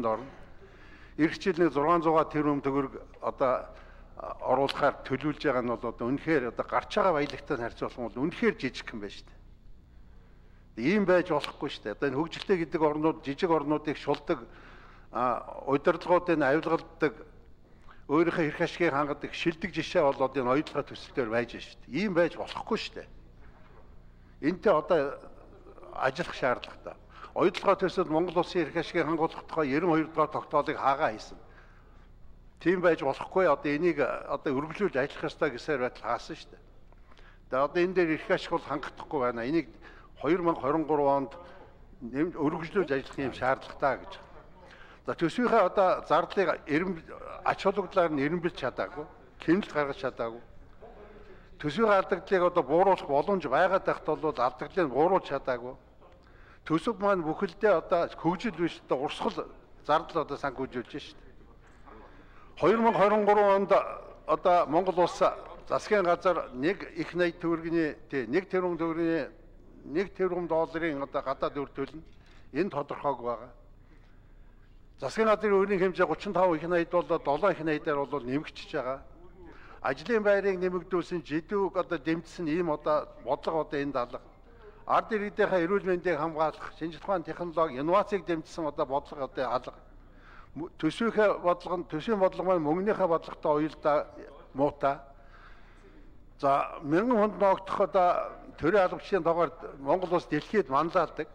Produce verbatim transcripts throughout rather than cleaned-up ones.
төвшөнд орно. Ирэх жил нэг зургаан зугаар тэрбум төгрөг одоо оруулахаар төлөвлөж байгаа нь бол одоо үнэхээр одоо гарч байгаа баялагтай харьцуулах нь бол үнэхээр жижиг юм байна шүү дээ. Ийм байж болохгүй шүү дээ. Одоо энэ хөгжилтэй гэдэг орнууд жижиг орнуудыг шулдаг, удирдлагуудыг авилгалдаг, өөрийнхөө эрх ашгийг хангадаг шилдэг жишээ болоод энэ оюутлогын төсөл дээр байж шүү дээ. Ийм байж болохгүй шүү дээ. Энтэй одоо ажиллах шаардлагатай. Оюутлогын төсөл Монгол улсын эрх ашгийг хангуулах тухай ninety-two дугаар тогтоолыг хаагаа хийсэн. Тийм байж болохгүй. Одоо энийг одоо өргөжлүүлж ажиллах ёстой гэсээр байтал хаасан шүү дээ. Тэгээ одоо энэ дээр эрх ашиг бол хангахдахгүй байна. Энийг twenty twenty-three онд өргөжлүүлж ажиллах юм шаардлагатай гэж. За төсвийнхээ одоо зардлыг ач холбогдлоор нь эренбэлж чадаагүй, хэмнэлт гаргаж чадаагүй. Төсвийн алдагдлыг одоо бууруулах боломж байгаад байхад бол алдагдлыг бууруулж чадаагүй. Төсөв маань бүхэлдээ одоо хөгжил биш одоо урсгал зардал одоо санхүүжүүлж шүү дээ. twenty twenty-three онд одоо Монгол улс засгийн газар нэг их найд төгрөгийн тий нэг тэрбум төгрөгийн нэг тэрбум долларын одоо гадаад үр төлнө. Энэ тодорхойг байгаа. Засгийн газрын өрийн хэмжээ thirty-five их найд бол seven их найдаар бол нэмэгдчихэж байгаа. Ажлын байрыг нэмэгдүүлсэн жидүүг одоо дэмжсэн ийм одоо бодлого одоо энэ даалга. Ард иргэдийнхээ эрүүл мэндийг хамгаалах, шинжлэх ухааны технологи, инновацийг дэмжсэн одоо бодлого одоо алга. Төсвийнхээ бодлого нь төсвийн бодлого маань мөнгөнийхээ бодлоготой уялдаа муутай. За мянган хүнд ногдох одоо төрийн албачийн тоогоор Монгол улс дэлхийд манлайлдаг.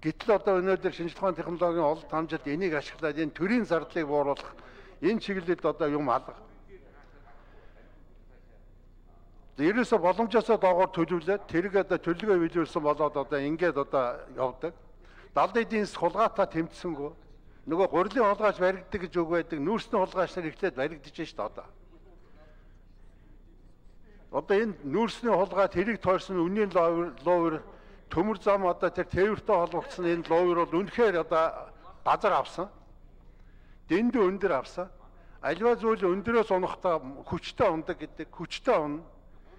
Гэтэл одоо өнөөдөр шинжлэх ухааны технологийн олд хамжилт энийг ашиглаад энэ төрийн зардлыг бууруулах энэ чиглэлд одоо юм алга. Ерөөсө боломжоосоо доогоор төлөвлөд тэрэг одоо төлөвлөгөө биелүүлсэн болоод одоо ингээд одоо явдаг. Далд эдийн засаг хулгайтай тэмцсэнгүү. Нөгөө гурилын хулгайч баригддаг гэж үг байдаг. Нүүрсний хулгайч нар ихлээд баригдаж шээ одоо. Одоо энэ нүүрсний хулгай тэрэг тойрсон үнийн ловер төмөр зам одоо тэр тээвэртэй холбогдсон энэ ловер бол үнэхээр одоо газар авсан. Дэндүү өндөр авсан. Аливаа зүйл өндөрөөс унахтаа хүчтэй ундаг гэдэг. Хүчтэй унна.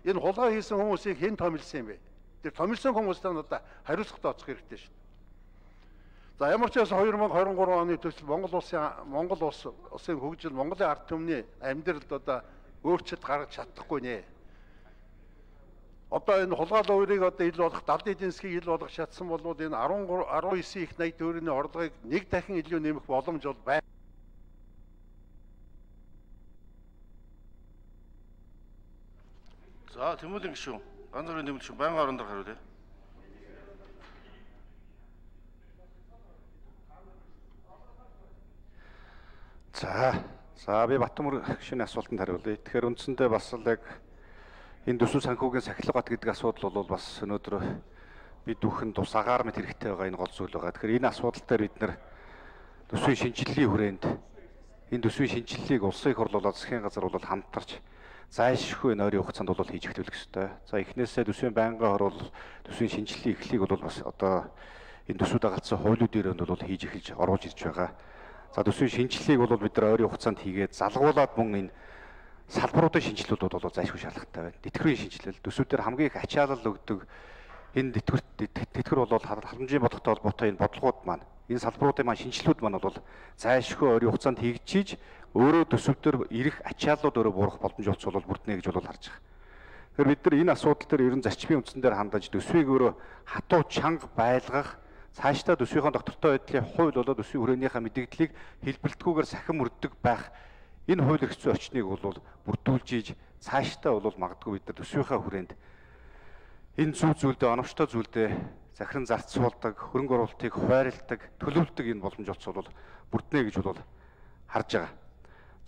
Энэ хулгай хийсэн хүмүүсийг хэн томилсон юм бэ? Тэр томилсон хүмүүстээ одоо хариуцлага тооцох хэрэгтэй шүү дээ. За ямар ч байсан twenty twenty-three оны төсөл Монгол улсын Монгол улс улсын хөгжил Монголын ард түмний амьдралд одоо өөрчлөлт гаргаж чадахгүй нэ. Одоо энэ хулгай ловрыг одоо ил болох далд эдийн засгийг ил болгох шатсан бол энэ nineteen их найд төгрөгийн орлогыг нэг дахин илүү нэмэх боломж бол байна. За Тэмүүлийн гишүүн, ганц бүрийн Тэмүүл гишүүн байнгын орон дээр хариулъя. За, за би Батмөр гишүүний асуултанд хариулъя. Тэгэхээр үндсэндээ бас л яг энэ төсөв санхүүгийн сахилгат гэдэг асуудал бол бас өнөөдөр бид бүхэн тус агаар мэт хэрэгтэй байгаа энэ гол зүйл байгаа. Тэгэхээр энэ асуудал дээр бид нэр төсвийн шинжилгэлийн хүрээнд энэ төсвийн шинжилгээг улсын их хурлуулаад засгийн газар бол хамтарч зайлшгүй энэ ойрын хугацаанд бол хийж эхлүүлэх ёстой. За эхнээсээ төсвийн байнгын хор бол төсвийн шинжилгэлийн эхлэлийг бол бас одоо энэ төсвүүд дагалцсан хуулиудын өрөөнд бол хийж эхэлж оруулж ирж байгаа. За төсвийн шинжилгээг бол бид нар ойрын хугацаанд хийгээд залгуулад мөн энэ салбаруудын шинжилгүүд бол зайлшгүй шаардлагатай байна. Тэтгэврийн шинжилэл төсвүүдээр хамгийн их ачаалал өгдөг энэ тэтгэвэр тэтгэвэр бол халамжийн бодлоготой холбоотой энэ бодлогууд маань энэ салбаруудын маань шинжилгүүд маань бол зайлшгүй ойрын хугацаанд хийгдчихийж өөрөө төсөвдөр ирэх ачааллууд өөрөө буурах боломж олцвол бүрднэ гэж бол харж байгаа. Тэгэхээр бид нар энэ асуудал дээр ерөн зарчмын үндсэн дээр хандаж төсвийг өөрөө хатуу чанга байлгах, цаашдаа төсвийнхөө доктортой байдлын хууль болоод төсвийн хүрээнийхээ мэдээллийг хэлбэлтгүйгээр сахин мөрддөг байх энэ хууль эрх зүйн орчныг бол бүрдүүлж ийж цаашдаа бол магадгүй бид нар төсвийнхээ хүрээнд энэ зүй зүйлдээ оновчтой зүйлдээ захиран зарцуулдаг, хөрөнгө оруулалтыг хуваарлдаг, төлөвлөдөг энэ боломж олцвол бүрднэ гэж бол харж байгаа.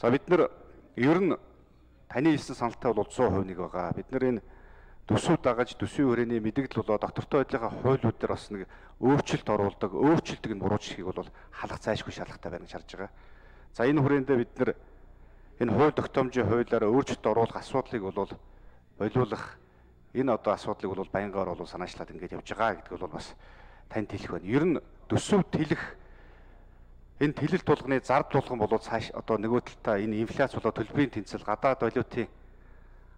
За бид нар ер нь таны хэлсэн саналтай бол one hundred percent нэг байгаа. Бид нар энэ төсөв дагаж төсвийн хүрээний мэдээлэл болоо доктортой байдлынхаа хуулиуд дээр бас нэг өөрчлөлт оруулдаг, өөрчлөлтөг нь буруучхийг бол халах зайлшгүй шаардлагатай байна гэж харж байгаа. За энэ хүрээндээ бид нар энэ хууль тогтоомжийн хуулиараа өөрчлөлт оруулах асуудлыг бол болиулах энэ одоо асуудлыг бол баянгаар бол санаачлаад ингэж явж байгаа гэдэг бол бас танд хэлэх байна. Ер нь төсөв тэлэх энэ тэлэлт тулганы зард тулган болоод цааш одоо нөгөө талдаа энэ инфляц болоо төлбөрийн тэнцэл гадаад валютын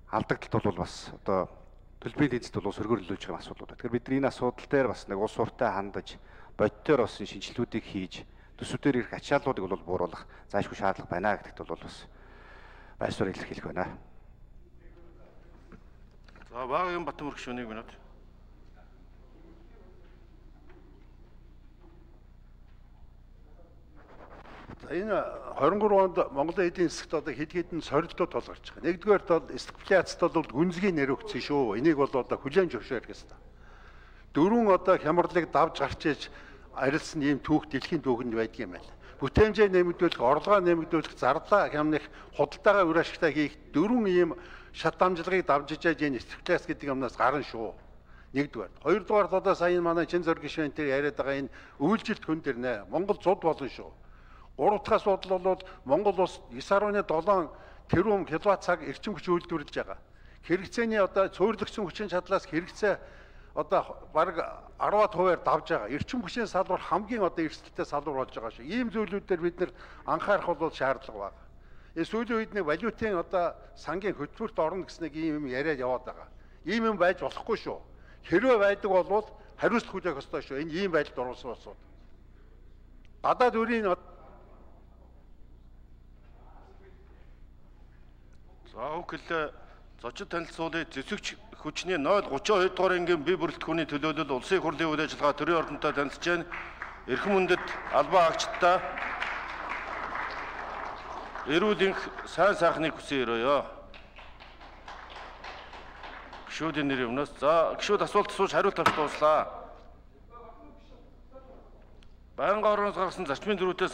алдагдлалт бол бас одоо төлбөрийн тэнцэлд бол сөргөрлөж байгаа асуудлууд. Тэгэхээр бид энэ асуудал дээр бас нэг улс уртай хандаж бодитоор бас шинжилгүүдийг хийж төсвүүдээр ирэх ачааллуудыг бол бууруулах заашгүй шаардлага байна гэдэгт бол бас байр суурь илэрхийлэх байна. За Багагийн Батмүр гишүүн нэг минут. За энэ хорин гурван онд Монголын эдийн засагт одоо хэд хэдэн сорилтууд толгарч байгаа. Нэгдүгээрт бол стагфляцт бол гүнзгий нэр өгсөн шүү. Энийг бол одоо хүлээн зөвшөөрөх ёстой. Дөрвөн одоо хямралыг давж гарч иж арилсан ийм түүх дэлхийн түүхэнд байдаг юм байна. Бүтээмжээ нэмэгдүүлэх, орлогоо нэмэгдүүлэх, зардаа хямнах, худалдаагаа үр ашигтай хийх дөрвөн ийм шат дамжлагыг давж ижээж энэ стагфляц гэдэг юмнаас гарна шүү. Нэгдүгээр. Хоёрдугаар одоо сая манай чин зөр гишүүн тэр яриад байгаа энэ үйлжилт хүн дэр нэ Монгол зуд болно шүү. Гурав дахь асуудал бол Монгол улс девять целых семь тэрбум киловатт цаг эрчим хүч үйлдвэрлэж байгаа. Хэрэгцээний одоо цөөхлөгсөн хүчин чадлаас хэрэгцээ одоо бараг арваад хувиар давж байгаа. Эрчим хүчний салбар хамгийн одоо эрсдэлтэй салбар болж байгаа шүү. Ийм зүйлүүдээр бид нэр анхаарах бол шаардлага байна. Энэ сүүлийн үед нэг валютын одоо сангийн хөтөлбөрт орно гэсэн нэг ийм юм яриад яваад байгаа. Ийм юм байж болохгүй шүү. Хэрвээ байдаг бол хариуцлага хүлээх ёстой шүү. Энэ ийм байдалд оруулсан улсууд. Гадаад өрийн За үхэл зочид танилцуулъя. Зэвсэгч хүчний ноль тридцать two дугаар ангийн бие бүрэлдэхүүний төлөөлөл улсын хурлын үйл ажиллагаа төрийн ордонтой танилцж байна. Эрхэм хүндэт албан агчдаа эрүүл энх сайн сайхныг хүсэн өрөөё. Гишүүдийн нэр юмнаас за гишүүд асуулт асууж хариулт авч дууслаа. Байнгын орноос гаргасан зарчмын зөрүүтэй